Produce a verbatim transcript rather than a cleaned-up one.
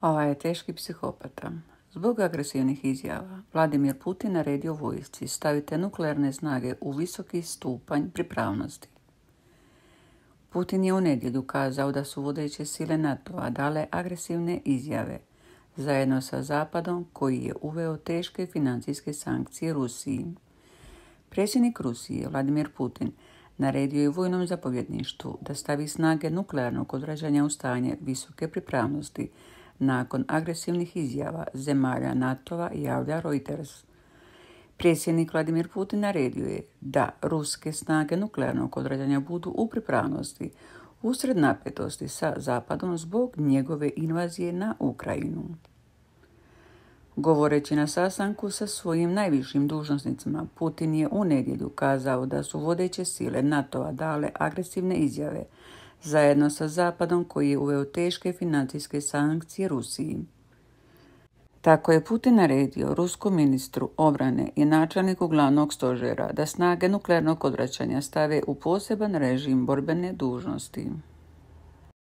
Ovaj je teški psihopata. Zbog agresivnih izjava, Vladimir Putin naredio vojsci stavite nuklearne snage u visoki stupanj pripravnosti. Putin je u nedjelju kazao da su vodeće sile NATO-a dale agresivne izjave zajedno sa Zapadom koji je uveo teške financijske sankcije Rusiji. Predsjednik Rusije, Vladimir Putin, naredio je vojnom zapovjedništvu da stavi snage nuklearnog odvraćanja u stanje visoke pripravnosti nakon agresivnih izjava zemalja NATO-a, javlja Reuters. Predsjednik Vladimir Putin naredio je da ruske snage nuklearnog odvraćanja budu u pripravnosti usred napetosti sa Zapadom zbog njegove invazije na Ukrajinu. Govoreći na sastanku sa svojim najvišim dužnosnicima, Putin je u nedjelju kazao da su vodeće sile NATO-a dale agresivne izjave zajedno sa Zapadom koji je uveo teške financijske sankcije Rusiji. Tako je Putin naredio ruskom ministru obrane i načelniku glavnog stožera da snage nuklearnog odvraćanja stave u poseban režim borbene dužnosti.